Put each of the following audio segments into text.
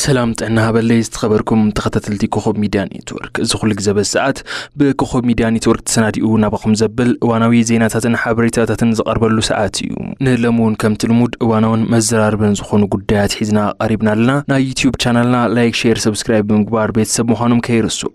ሰላም ጥዕና ሃበለይ ዝተኸበርኩም ተኸታተልቲ ኮኸብ ሚድያ ኔትወርክ። እዚ ኩሉ ግዜ በዚ ሰዓት ብኮኸብ ሚድያ ኔትወርክ ተሰናዲኡ ናባኹም ዘብል እዋናዊ ዜናታትን ሓበሬታታትን ዝቐርበሉ ሰዓት እዩ። ንሎሚ እውን ከምቲ ልሙድ እዋናውን መዘራርብን ዝኾኑ ጉዳያት ሒዝና ቀሪብና ኣለና። ናይ ዩትዩብ ቻናልና ላይክ፣ ሼር፣ ሰብስክራይብ ብምግባር ቤተሰብ ምዃኖም ከይርስዑ።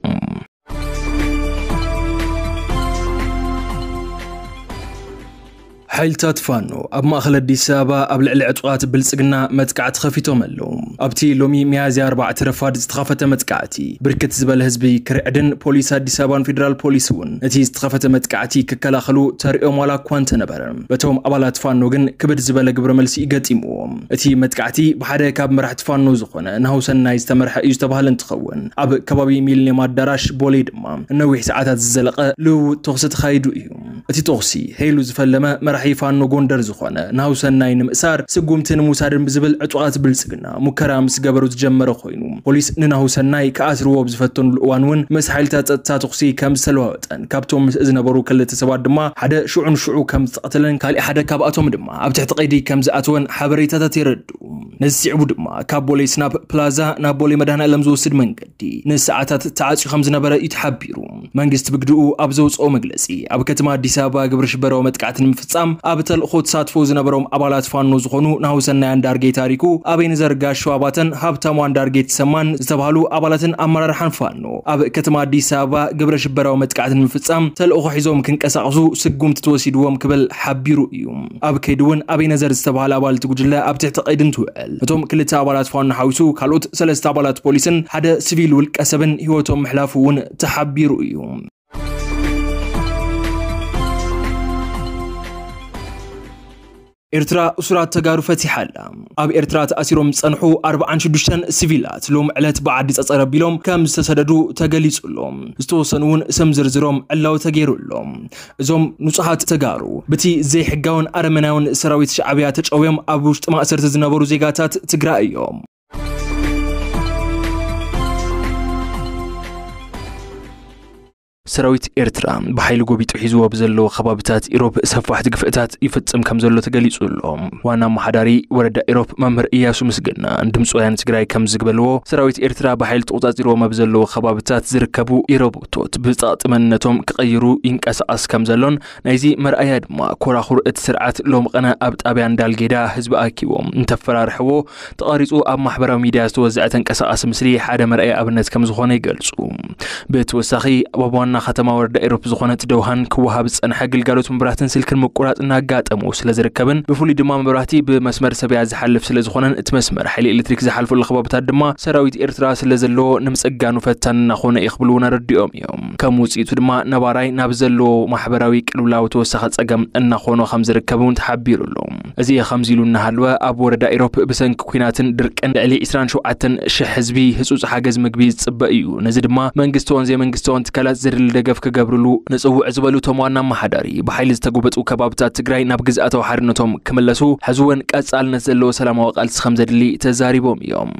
ሓይልታት ፋኖ ኣብ ማእኸል ኣዲስ ኣበባ ኣብ ልዕሊ ዕጡቓት ብልጽግና መጥቃዕቲ ከፊቶም ኣለዉ። ኣብቲ ሎሚ ሚያዝያ ኣርባዕተ ረፋድ ዝተኸፈተ መጥቃዕቲ ብርክት ዝበለ ህዝቢ ክርዕድን ፖሊስ ኣዲስ ኣበባን ፌደራል ፖሊስ እውን ነቲ ዝተኸፈተ መጥቃዕቲ ክከላኸሉ ተሪኦም ዋላ እኳ እንተነበረ፣ በቶም ኣባላት ፋኖ ግን ክብድ ዝበለ ግብረ መልሲ ገጢምዎም። እቲ መጥቃዕቲ ብሓደ ካብ መራሕቲ ፋኖ ዝኾነ ናሁሰናይ ዝተመርሐ እዩ ዝተባህለ እንትኸውን፣ ኣብ ከባቢ ሚሊኒየም ኣዳራሽ ቦሌ ድማ ነዊሕ ሰዓታት ዝዘለቐ ልውውጥ ተኹሲ ተኻይዱ እዩ። እቲ ተኹሲ ሄሉ ዝፈለመ መራሒ ፋኖ ጎንደር ዝኾነ ናሁሰናይ ንምእሳር ስጉምቲ ንምውሳድን ብዝብል ዕጡቓት ብልጽግና ሙከራ ምስ ገበሩ ዝጀመረ ኮይኑ፣ ፖሊስ ንናሁሰናይ ክኣስርዎ ኣብ ዝፈተኑሉ እዋን እውን ምስ ሓይልታት ጸጥታ ተኹሲ ከም ዝተለዋወጠን ካብቶም ምስ ዝነበሩ ክልተ ሰባት ድማ ሓደ ሽዑ ንሽዑ ከም ዝተቐተለን ካሊእ ሓደ ካብኣቶም ድማ ኣብ ትሕቲ ቀይዲ ከም ዝኣተወን ሓበሬታታት የረድኡ። ነዚ ስዒቡ ድማ ካብ ቦሌ ስናፕ ፕላዛ ናብ ቦሌ መድኃኔዓለም ዝወስድ መንገዲ ንሰዓታት ተዓጽዩ ከም ዝነበረ እዩ ተሓቢሩ። መንግስቲ ብግድኡ ኣብ ዘውፅኦ መግለፂ፣ ኣብ ከተማ ኣዲስ ኣበባ ግብረ ሽበራዊ መጥቃዕቲ ንምፍጻም ኣብ ተልእኾ ተሳትፎ ዝነበሮም ኣባላት ፋኖ ዝኾኑ ናሁሰናይ ኣንዳርጌ ታሪኩ፣ ኣቤኔዘር ጋሻው ኣባተን ሃብታሙ ኣንዳርጌ ተሰማን ዝተባህሉ ኣባላትን ኣመራርሓን ፋኖ ኣብ ከተማ ኣዲስ ኣበባ ግብረ ሽበራዊ መጥቃዕቲ ንምፍጻም ተልእኾ ሒዞም ክንቀሳቐሱ ስጉምቲ ተወሲድዎም ክብል ሓቢሩ እዩ። ኣብ ከይዲ እውን ኣቤነዘር ዝተባህለ ኣባል እቲ ጉጅለ ኣብ ትሕቲ ቀይዲ እንትውዕል፣ እቶም ክልተ ኣባላት ፋኖ ሓዊሱ ካልኦት ሰለስተ ኣባላት ፖሊስን ሓደ ሲቪል ውልቀ ሰብን ህይወቶም ምሕላፉ እውን ተሓቢሩ እዩ። ኤርትራ እሱራት ተጋሩ ፈቲሓ ኣላ። ኣብ ኤርትራ ተኣሲሮም ዝጸንሑ ኣርብዓን ሽዱሽተን ሲቪላት ሎም ዕለት ብዓዲ ጸጸር ኣቢሎም ከም ዝተሰደዱ ተገሊጹ ኣሎ። ዝተወሰኑ እውን ስም ዝርዝሮም ዕላዊ ተገይሩ ኣሎ። እዞም ንጹሃት ተጋሩ ብቲ ዘይሕጋውን ኣረመናውን ሰራዊት ሻዕብያ ተጨውዮም ኣብ ውሽጢ ማእሰርቲ ዝነበሩ ዜጋታት ትግራይ እዮም። ሰራዊት ኤርትራ ብሓይሊ ጎቢጡ ሒዝዎ ብዘለዎ ከባብታት ኢሮብ ሰፋሕቲ ግፍዕታት ይፍጽም ከም ዘሎ ተገሊጹ ኣሎ። ዋና ኣመሓዳሪ ወረዳ ኢሮብ መምህር እያሱ ምስግና ንድምፂ ወያነ ትግራይ ከም ዝግበልዎ፣ ሰራዊት ኤርትራ ብሓይሊ ተቆጻጺርዎም ኣብ ዘለዎ ከባብታት ዝርከቡ ኢሮቦቶት ብጸቕጢ መንነቶም ክቐይሩ ይንቀሳቐስ ከም ዘሎን፣ ናይዚ መርኣያ ድማ ኮራኹር እቲ ስርዓት ሎም ቀነ ኣብ ጣብያ እንዳልጌዳ ህዝቢ ኣኪቦም እንተፈራርሕዎ ተቐሪጹ ኣብ ማሕበራዊ ሚድያ ዝተወዘዐ ተንቀሳቓሲ ምስሊ ሓደ መርኣያ ኣብነት ከም ዝኾነ ይገልጹ። ብተወሳኺ ኣብ ዋና ከተማ ወረዳ ኢሮብ ዝኾነት ደውሃን ክወሃብ ዝጸንሐ ግልጋሎት መብራህትን ስልክን ምቁራጽ እናጋጠሙ ስለ ዝርከብን፣ ብፍሉይ ድማ መብራህቲ ብመስመር ሰብያ ዝሓልፍ ስለ ዝኾነን፣ እቲ መስመር ሓይሊ ኤሌክትሪክ ዝሓልፈሉ ከባብታት ድማ ሰራዊት ኤርትራ ስለ ዘለዎ ንምጽጋኑ ፈታኒ እናኾነ እዩ ክብሉ እውን ኣረዲኦም እዮም። ከም ውጽኢቱ ድማ ነባራይ ናብ ዘለዎ ማሕበራዊ ቅልውላው ተወሳኺ ጸገም እናኾኖ ከም ዝርከብ እውን ተሓቢሩ ኣሎ። እዚ ከምዚ ኢሉ እናሃለወ፣ ኣብ ወረዳ ኢሮብ ብሰንኪ ኲናትን ድርቅን ልዕሊ ዕስራን ሸውዓተን ሽሕ ህዝቢ ህጹጽ ሓገዝ ምግቢ ዝጽበ እዩ። ነዚ ድማ መንግስታውን ዘይመንግስታውን ትካላት ዘድሊ ደገፍ ክገብርሉ ንጽውዕ ዝበሉ እቶም ዋና ኣመሓዳሪ፣ ብሓይሊ ዝተጎበጡ ከባብታት ትግራይ ናብ ግዝኣታዊ ሓድነቶም ክምለሱ፣ ሕዚ እውን ቀጻልነት ዘለዎ ሰላማዊ ቃልሲ ከም ዘድሊ ተዛሪቦም እዮም።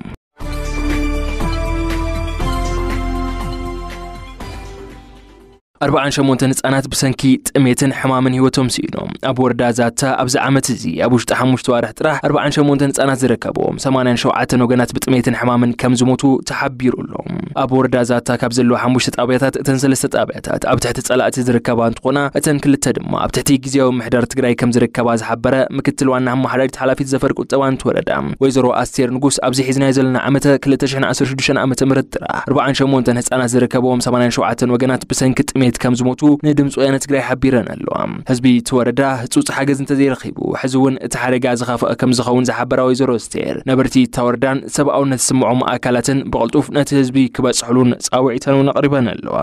ኣርብዓን ሸሞንተን ህጻናት ብሰንኪ ጥሜትን ሕማምን ህይወቶም ስኢኖም። ኣብ ወረዳ ዛታ ኣብዚ ዓመት እዚ ኣብ ውሽጢ ሓሙሽተ ዋርሕ ጥራሕ ኣርብዓን ሸሞንተን ህጻናት ዝርከብዎም ሰማንያን ሸውዓተን ወገናት ብጥሜትን ሕማምን ከም ዝሞቱ ተሓቢሩ ኣሎ። ኣብ ወረዳ ዛታ ካብ ዘለዉ ሓሙሽተ ጣብያታት እተን ሰለስተ ጣብያታት ኣብ ትሕቲ ጸላእቲ ዝርከባ እንትኾና፣ እተን ክልተ ድማ ኣብ ትሕቲ ግዝያዊ ምሕዳር ትግራይ ከም ዝርከባ ዝሓበረ ምክትል ዋና ኣመሓዳሪት ሓላፊት ዘፈር ቁጠባ ንትወረዳ ወይዘሮ ኣስቴር ንጉስ፣ ኣብዚ ሒዝናዮ ዘለና ዓመተ ክልተ ሽሕን ዓሰርተ ሽዱሽተን ዓመተ ምህረት ጥራሕ ኣርብዓን ሸሞንተን ህጻናት ዝርከብዎም ሰማንያን ሸውዓተን ወገናት ብሰንኪ ጥሜት ከም ዝሞቱ ንድምፂ ወያነ ትግራይ ሓቢረን ኣለዋ። ህዝቢ እቲ ወረዳ ህጹጽ ሓገዝ እንተዘይረኺቡ፣ ሕዚ እውን እቲ ሓደጋ ዝኸፍአ ከም ዝኸውን ዝሓበራ ወይዘሮ ኣስቴር፣ ነበርቲ እታ ወረዳን ሰብኣውነት ዝስምዖም ኣካላትን ብቕልጡፍ ነቲ ህዝቢ ክበጽሕሉን ጻውዒተን እውን ኣቕሪበን ኣለዋ።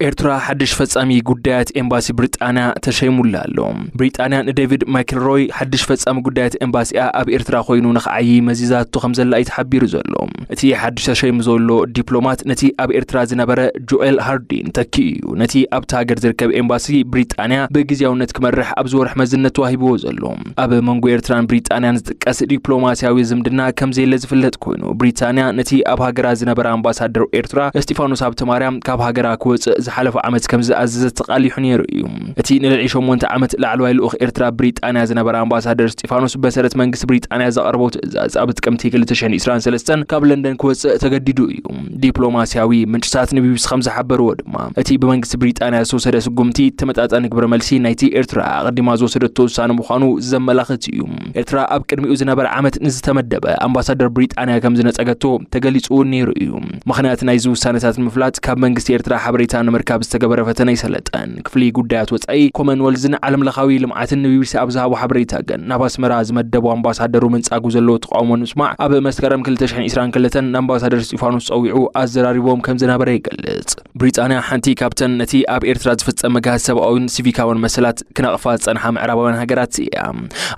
ኤርትራ ሓድሽ ፈጻሚ ጉዳያት ኤምባሲ ብሪጣንያ ተሸይሙላ ኣሎ። ብሪጣንያ ንዴቪድ ማይክልሮይ ሓድሽ ፈጻሚ ጉዳያት ኤምባሲኣ ኣብ ኤርትራ ኮይኑ ንኽዓዪ መዚዛቶ ከም ዘላ እዩ ተሓቢሩ ዘሎ። እቲ ሓድሽ ተሸይሙ ዘሎ ዲፕሎማት ነቲ ኣብ ኤርትራ ዝነበረ ጆኤል ሃርዲን ተኪኡ እዩ። ነቲ ኣብታ ሃገር ዝርከብ ኤምባሲ ብሪጣንያ ብግዝያውነት ክመርሕ ኣብዚ ወርሒ መዝነት ተዋሂብዎ ዘሎ። ኣብ መንጎ ኤርትራን ብሪጣንያን ዝጥቀስ ዲፕሎማስያዊ ዝምድና ከም ዘየለ ዝፍለጥ ኮይኑ፣ ብሪጣንያ ነቲ ኣብ ሃገራ ዝነበረ ኣምባሳደር ኤርትራ እስጢፋኖስ ሃብተማርያም ካብ ሃገራ ክወጽእ ዝሓለፈ ዓመት ከም ዝኣዘዘ ተቓሊሑ ነይሩ እዩ። እቲ ንልዕሊ ሸሞንተ ዓመት ላዕለዋይ ልኡኽ ኤርትራ ብሪጣንያ ዝነበረ ኣምባሳደር እስጢፋኖስ፣ ብመሰረት መንግስቲ ብሪጣንያ ዘቕረቦ ትእዛዝ፣ ኣብ ጥቅምቲ ክልተ ሽሕን ዕስራን ሰለስተን ካብ ለንደን ክወጽእ ተገዲዱ እዩ። ዲፕሎማስያዊ ምንጭታት ንቢቢሲ ከም ዝሓበርዎ ድማ፣ እቲ ብመንግስቲ ብሪጣንያ ዝተወሰደ ስጉምቲ፣ ተመጣጣኒ ግብረ መልሲ ናይቲ ኤርትራ ኣቐዲማ ዝወሰደቶ ውሳነ ምዃኑ ዘመላኽት እዩ። ኤርትራ ኣብ ቅድሚኡ ዝነበረ ዓመት ንዝተመደበ ኣምባሳደር ብሪጣንያ ከም ዝነጸገቶ ተገሊጹ እውን ነይሩ እዩ። ምኽንያት ናይዚ ውሳነታት ንምፍላጥ፣ ካብ መንግስቲ ኤርትራ ሓበሬታ ንምርካብ ዝተገበረ ፈተነ ኣይሰለጠን። ክፍሊ ጉዳያት ወጻኢ፣ ኮመንወልዝን ዓለምለኻዊ ልምዓትን ንቢቢሲ ኣብ ዝሃቦ ሓበሬታ ግን፣ ናብ ኣስመራ ዝመደቦ ኣምባሳደሩ ምንጻጉ ዘለዎ ተቃውሞ ንምስማዕ፣ ኣብ መስከረም ክልተ ሽሕን ዕስራን ክልተን ንኣምባሳደር እስጢፋኖስ ጸዊዑ ኣዘራሪቦም ከም ዝነበረ ይገልጽ። ብሪጣንያ ሓንቲ ካብተን ነቲ ኣብ ኤርትራ ዝፍጸም መግሃስ ሰብኣውን ሲቪካውን መሰላት ክነቕፋ ዝጸንሓ ምዕራባውያን ሃገራት እያ።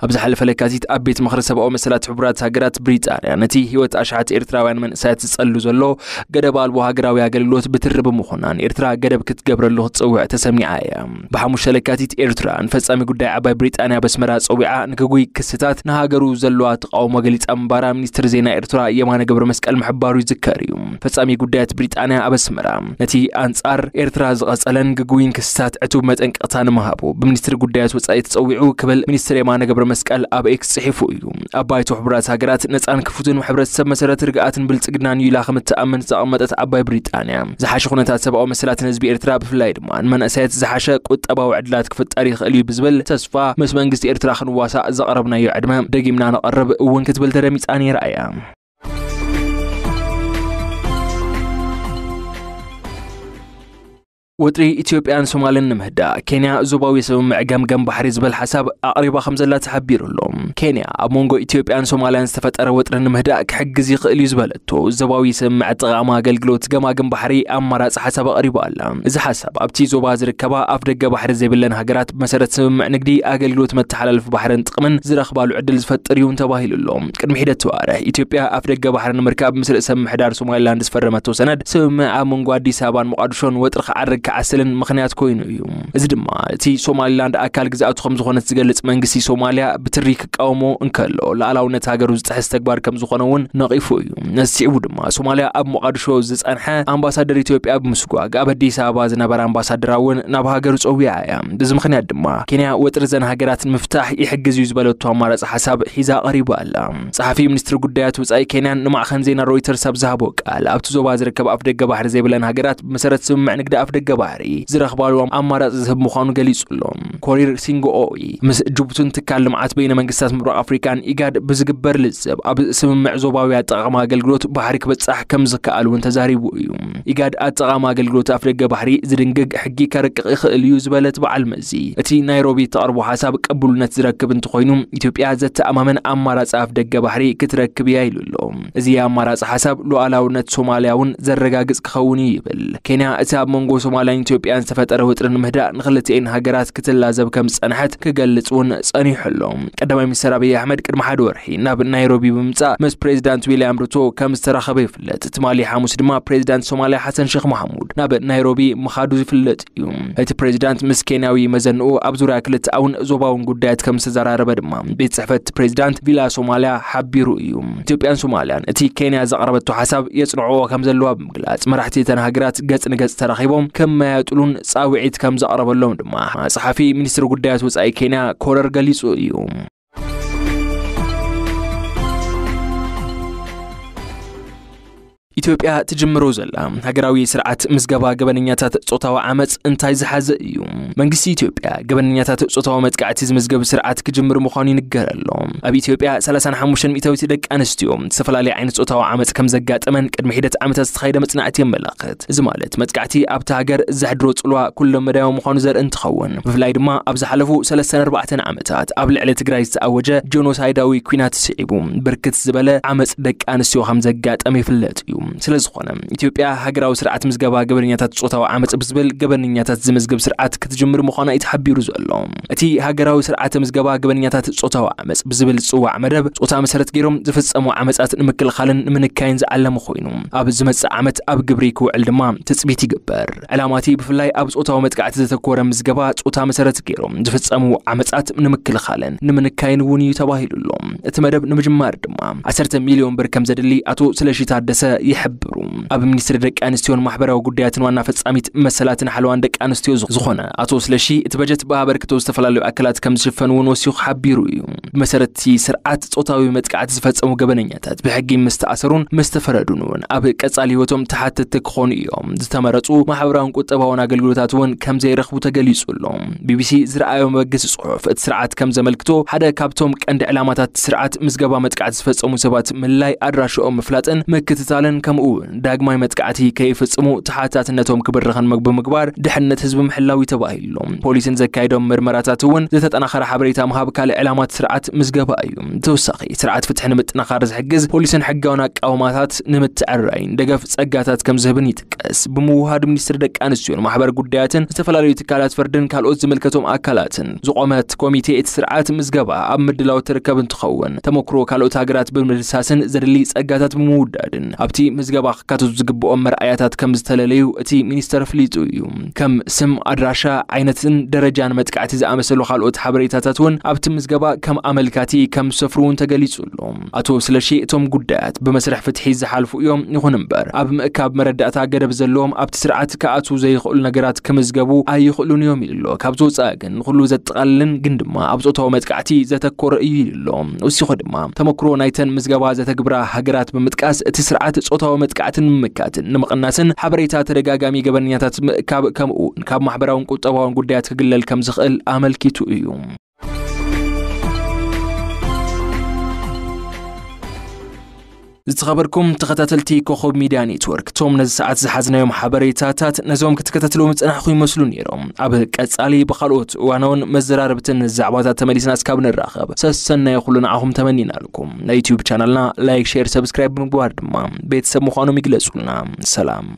ኣብ ዝሓለፈ ለካቲት፣ ኣብ ቤት ምኽሪ ሰብኣዊ መሰላት ሕቡራት ሃገራት፣ ብሪጣንያ ነቲ ህይወት ኣሽሓት ኤርትራውያን መንእሰያት ዝጸሉ ዘሎ ገደብ ኣልቦ ሃገራዊ ኣገልግሎት ብትሪ ብምኹናን፣ ኤርትራ ገደብ ክትገብረሉ ክትጽውዕ ተሰሚዓ እያ። ብሓሙሽተ ለካቲት፣ ኤርትራ ንፈጻሚ ጉዳይ ዓባይ ብሪጣንያ ኣብ ኣስመራ ጸዊዓ፣ ንግጉይ ክስታት ንሃገሩ ዘለዋ ተቃውሞ ገሊጻ ምንባራ ሚኒስትር ዜና ኤርትራ የማነ ገብረ መስቀል ምሕባሩ ይዝከር እዩ። ፈጻሚ ጉዳያት ብሪጣንያ ኣብ ኣስመራ፣ ነቲ ኣንጻር ኤርትራ ዝቐጸለን ግጉይን ክስታት ዕቱብ መጠንቀቕታ ንምሃቡ ብሚኒስትሪ ጉዳያት ወጻኢ ተጸዊዑ ክብል ሚኒስትር የማነ ገብረ መስቀል ኣብ ኤክስ ጽሒፉ እዩ። ኣብ ባይቶ ሕቡራት ሃገራት ነጻን ክፉትን ሕብረተሰብ መሰረት ርግኣትን ብልጽግናን እዩ ኢላ ከም እትኣምን ዝተቐመጠት ዓባይ ብሪጣንያ፣ ዝሓሸ ኩነታት ሰብኣዊ መሰላትን ህዝቢ ኤርትራ፣ ብፍላይ ድማ ንመንእሰያት ዝሓሸ ቁጠባዊ ዕድላት ክፍጠር ይኽእል እዩ ብዝብል ተስፋ፣ ምስ መንግስቲ ኤርትራ ክንዋሳእ ዘቕረብናዮ ዕድመ ደጊምና ነቐርብ እውን ክትብል ተደሚጻ ነይራ እያ። ወጥሪ ኢትዮጵያን ሶማልን ንምህዳእ፣ ኬንያ ዞባዊ ስምምዕ ገምገም ባሕሪ ዝብል ሓሳብ ኣቕሪባ ከም ዘላ ተሓቢሩ ኣሎ። ኬንያ፣ ኣብ መንጎ ኢትዮጵያን ሶማልያን ዝተፈጠረ ወጥሪ ንምህዳእ ክሕግዝ ይኽእል እዩ ዝበለቶ ዞባዊ ስምምዕ ኣጠቓቕማ ኣገልግሎት ገማግም ባሕሪ ኣማራጺ ሓሳብ ኣቕሪባ ኣላ። እዚ ሓሳብ፣ ኣብቲ ዞባ ዝርከባ ኣፍ ደገ ባሕሪ ዘይብለን ሃገራት ብመሰረት ስምምዕ ንግዲ፣ ኣገልግሎት መተሓላለፊ ባሕርን ጥቕምን ዝረኽባሉ ዕድል ዝፈጥር እዩ እውን ተባሂሉ ኣሎ። ቅድሚ ሒደት ኣዋርሕ፣ ኢትዮጵያ ኣፍ ደገ ባሕሪ ንምርካብ ምስ ርእሰ ምምሕዳር ሶማሊላንድ ዝፈረመቶ ሰነድ ስምምዕ፣ ኣብ መንጎ ኣዲስ ኣበባን ሞቓዲሾን ወጥሪ ክዓርግ ክዓስልን ምኽንያት ኮይኑ እዩ። እዚ ድማ፣ እቲ ሶማሊላንድ ኣካል ግዝኣቱ ከም ዝኾነት ዝገልጽ መንግስቲ ሶማልያ ብትሪ ክቃወሞ እንከሎ፣ ሉዓላውነት ሃገሩ ዝጥሕስ ተግባር ከም ዝኾነ እውን ነቒፉ እዩ። ነዚ ስዒቡ ድማ፣ ሶማልያ ኣብ ሞቓዲሾ ዝጸንሐ ኣምባሳደር ኢትዮጵያ ብምስጓግ፣ ኣብ ኣዲስ ኣበባ ዝነበረ ኣምባሳደራ እውን ናብ ሃገሩ ጸዊዓ እያ። በዚ ምኽንያት ድማ፣ ኬንያ ወጥሪ ዘን ሃገራት ንምፍታሕ ይሕግዝ እዩ ዝበለቶ ኣማራጺ ሓሳብ ሒዛ ቀሪባ ኣላ። ጸሓፊ ሚኒስትሪ ጉዳያት ወጻኢ ኬንያን ንማዕኸን ዜና ሮይተርስ ኣብ ዝሃቦ ቃል፣ ኣብቲ ዞባ ዝርከብ ኣፍ ደገ ባሕሪ ዘይብለን ሃገራት ብመሰረት ስምምዕ ንግዲ ኣፍ ደገ ባሕሪ ዝረኽባሉ ኣማራጺ ዝህብ ምዃኑ ገሊጹ ኣሎ። ኮሪር ሲንግኦኢ ምስ ጅቡትን ትካል ልምዓት በይነ መንግስታት ምብራቕ ኣፍሪካን፣ ኢጋድ፣ ብዝግበር ልዝብ፣ ኣብ ስምምዕ ዞባዊ ኣጠቓቕማ ኣገልግሎት ባሕሪ ክበጻሕ ከም ዝከኣል እውን ተዛሪቡ እዩ። ኢጋድ፣ ኣጠቓቕማ ኣገልግሎት ኣፍ ደገ ባሕሪ ዝድንግግ ሕጊ ከርቅቕ ይኽእል እዩ ዝበለት በዓል መዚ፣ እቲ ናይሮቢ እተቕርቦ ሓሳብ ቅቡልነት ዝረክብ እንተኾይኑ፣ ኢትዮጵያ ዘተኣማምን ኣማራጺ ኣፍ ደገ ባሕሪ ክትረክብ እያ ኢሉ ኣሎ። እዚ ኣማራጺ ሓሳብ ሉዓላውነት ሶማልያ እውን ዘረጋግጽ ክኸውን እዩ ይብል። ኬንያ፣ እቲ ኣብ መንጎ ሶማልያን ኢትዮጵያን ዝተፈጠረ ወጥሪ ንምህዳእ፣ ንክልቲኤን ሃገራት ክትላዘብ ከም ዝጸንሐት ክገልጽ እውን ጸኒሑ ኣሎ። ቀዳማይ ሚኒስትር ኣብይ ኣሕመድ ቅድሚ ሓደ ወርሒ ናብ ናይሮቢ ብምምጻእ፣ ምስ ፕሬዚዳንት ዊልያም ሩቶ ከም ዝተራኸበ ይፍለጥ። ትማሊ ሓሙስ ድማ፣ ፕሬዚዳንት ሶማልያ ሓሰን ሼክ መሓሙድ ናብ ናይሮቢ ምኻዱ ዝፍለጥ እዩ። እቲ ፕሬዚዳንት ምስ ኬንያዊ መዘንኡ ኣብ ዙርያ ክልተኣውን ዞባውን ጉዳያት ከም ዝተዘራረበ ድማ ቤት ጽሕፈት ፕሬዚዳንት ቪላ ሶማልያ ሓቢሩ እዩ። ኢትዮጵያን ሶማልያን፣ እቲ ኬንያ ዘቕረበቶ ሓሳብ የጽንዕዎ ከም ዘለዋ ብምግላጽ፣ መራሕቲ እተን ሃገራት ገጽ ንገጽ ተራኺቦም ከመያጥሉን ጻውዒት ከም ዘቕረበሎም ድማ ጸሓፊ ሚኒስትሪ ጉዳያት ወጻኢ ኬንያ ኮረር ገሊጹ እዩ። ኢትዮጵያ ትጅምሮ ዘላ ሃገራዊ ስርዓት ምዝገባ ገበነኛታት ጾታዊ ዓመጽ እንታይ ዝሓዘ እዩ? መንግስቲ ኢትዮጵያ ገበነኛታት ጾታዊ መጥቃዕቲ ዝምዝገብ ስርዓት ክጅምር ምዃኑ ይንገር ኣሎ። ኣብ ኢትዮጵያ፣ ሰላሳን ሓሙሽተን ሚእታዊት ደቂ ኣንስትዮ ዝተፈላለየ ዓይነት ጾታዊ ዓመጽ ከም ዘጋጠመን ቅድሚ ሒደት ዓመታት ዝተኻየደ መጽናዕቲ የመላኽት። እዚ ማለት፣ መጥቃዕቲ ኣብቲ ሃገር ዘሕድሮ ጽልዋ ኩለ መዳያዊ ምዃኑ ዘርኢ እንትኸውን፣ ብፍላይ ድማ ኣብ ዝሓለፉ ሰለስተን ኣርባዕተን ዓመታት ኣብ ልዕሊ ትግራይ ዝተኣወጀ ጄኖሳይዳዊ ኲናት ስዒቡ፣ ብርክት ዝበለ ዓመጽ ደቂ ኣንስትዮ ከም ዘጋጠመ ይፍለጥ እዩ። ስለ ዝኾነ፣ ኢትዮጵያ ሃገራዊ ስርዓት ምዝገባ ገበነኛታት ጾታዊ ዓመጽ ብዝብል ገበነኛታት ዝምዝግብ ስርዓት ክትጅምር ምዃና እዩ ተሓቢሩ ዘሎ። እቲ ሃገራዊ ስርዓተ ምዝገባ ገበነኛታት ጾታዊ ዓመጽ ብዝብል ዝጽዋዕ መደብ፣ ጾታ መሰረት ገይሮም ዝፍጸሙ ዓመጻት ንምክልኻልን ንምንካይን ዝዓለመ ኮይኑ፣ ኣብ ዝመጽእ ዓመት ኣብ ግብሪ ክውዕል ድማ ትጽቢት ይግበር። ዕላማ እቲ ብፍላይ ኣብ ጾታዊ መጥቃዕቲ ዘተኮረ ምዝገባ፣ ጾታ መሰረት ገይሮም ዝፍጸሙ ዓመጻት ንምክልኻልን ንምንካይን እውን እዩ ተባሂሉ ኣሎ። እቲ መደብ ንምጅማር ድማ ዓሰርተ ሚልዮን ብር ከም ዘድሊ ኣቶ ስለሺ ታደሰ ይሕብሩ። ኣብ ሚኒስትሪ ደቂ ኣንስትዮን ማሕበራዊ ጉዳያትን ዋና ፈጻሚት መሰላትን ሓለዋን ደቂ ኣንስትዮ ዝኾነ ኣቶ ስለሺ፣ እቲ በጀት ብኣበርክቶ ዝተፈላለዩ ኣካላት ከም ዝሽፈን እውን ወሲኹ ሓቢሩ እዩ። ብመሰረት እቲ ስርዓት፣ ጾታዊ መጥቃዕቲ ዝፈጸሙ ገበነኛታት ብሕጊ ምስ ተኣሰሩን ምስ ተፈረዱን እውን ኣብ ቀጻሊ ህይወቶም ተሓተትቲ ክኾኑ እዮም። ዝተመረጹ ማሕበራውን ቁጠባውን ኣገልግሎታት እውን ከም ዘይረኽቡ ተገሊጹ ኣሎ። ቢቢሲ ዝረኣዮ መበገሲ ጽሑፍ፣ እቲ ስርዓት ከም ዘመልክቶ፣ ሓደ ካብቶም ቀንዲ ዕላማታት እቲ ስርዓት፣ ምዝገባ መጥቃዕቲ ዝፈጸሙ ሰባት ምልላይ፣ ኣድራሽኦም ምፍላጥን ምክትታልን፣ ከምኡ እውን ዳግማይ መጥቃዕቲ ከይፍጽሙ ተሓታትነቶም ክብርኽን ምግቢ ምግባር፣ ድሕነት ህዝቢ ምሕላው እዩ ተባሂሉ። ፖሊስን ዘካየዶም ምርመራታት እውን ዝተጠናኸረ ሓበሬታ ምሃብ ካልእ ዕላማት ስርዓት ምዝገባ እዩ። ተወሳኺ፣ ስርዓት ፍትሒ ንምጥንኻር ዝሕግዝ ፖሊስን ሕጋውን ኣቃውማታት ንምትዕራይን ደገፍ ጸጋታት ከም ዝህብን ይጥቀስ። ብምውሃድ፣ ሚኒስትሪ ደቂ ኣንስትዮን ማሕበር ጉዳያትን ዝተፈላለዩ ትካላት ፍርድን ካልኦት ዝምልከቶም ኣካላትን ዝቆመት ኮሚቴ፣ እቲ ስርዓት ምዝገባ ኣብ ምድላው ትርከብ እንትኸውን፣ ተመክሮ ካልኦት ሃገራት ብምድሳስን ዘድሊ ጸጋታት ብምውዳድን ኣብቲ ምዝገባ ክካተቱ ዝግብኦም መርኣያታት ከም ዝተለለዩ እቲ ሚኒስተር ኣፍሊጡ እዩ። ከም ስም፣ ኣድራሻ፣ ዓይነትን ደረጃን መጥቃዕቲ ዝኣመሰሉ ካልኦት ሓበሬታታት እውን ኣብቲ ምዝገባ ከም ኣመልካቲ ከም ዝሰፍሩ እውን ተገሊጹ ኣሎ። ኣቶ ስለሺ፣ እቶም ጉዳያት ብመስርሕ ፍትሒ ዝሓልፉ እዮም። ይኹን እምበር፣ ኣብ ምእካብ መረዳእታ ገደብ ዘለዎም፣ ኣብቲ ስርዓት ክኣትዉ ዘይኽእሉ ነገራት ክምዝገቡ ኣይኽእሉን እዮም ኢሉ ኣሎ። ካብዚ ወጻኢ ግን፣ ንኹሉ ዘጠቓልልን ግን ድማ ኣብ ጾታዊ መጥቃዕቲ ዘተኮረ እዩ ኢሉ ኣሎ። ወሲኹ ድማ፣ ተመክሮ ናይተን ምዝገባ ዘተግብራ ሃገራት ብምጥቃስ፣ እቲ ስርዓት ጾታዊ መጥቃዕቲ ንምምካትን ንምቕናስን፣ ሓበሬታ ተደጋጋሚ ገበነኛታት ምእካብ፣ ከምኡ እውን ካብ ማሕበራውን ቁጠባውን ጉዳያት ክግለል ከም ዝኽእል ኣመልኪቱ እዩ። ዝተኸበርኩም ተኸታተልቲ ኮኸብ ሚድያ ኔትወርክ፣ እቶም ነዚ ሰዓት ዝሓዝናዮም ሓበሬታታት፣ ነዞም ክትከታተልዎም ዝጸናሕኹም ይመስሉ ነይሮም። ኣብ ቀጻሊ ብኻልኦት እዋናውን መዘራረብትን ዛዕባታት ተመሊስና እስካብ ንራኸብ፣ ሰሰናይ ኩሉ ንዓኹም ተመኒናልኩም። ናይ ዩትዩብ ቻናልና ላይክ፣ ሼር፣ ሰብስክራይብ ብምግባር ድማ ቤተሰብ ምዃኖም ይግለጹልና። ሰላም።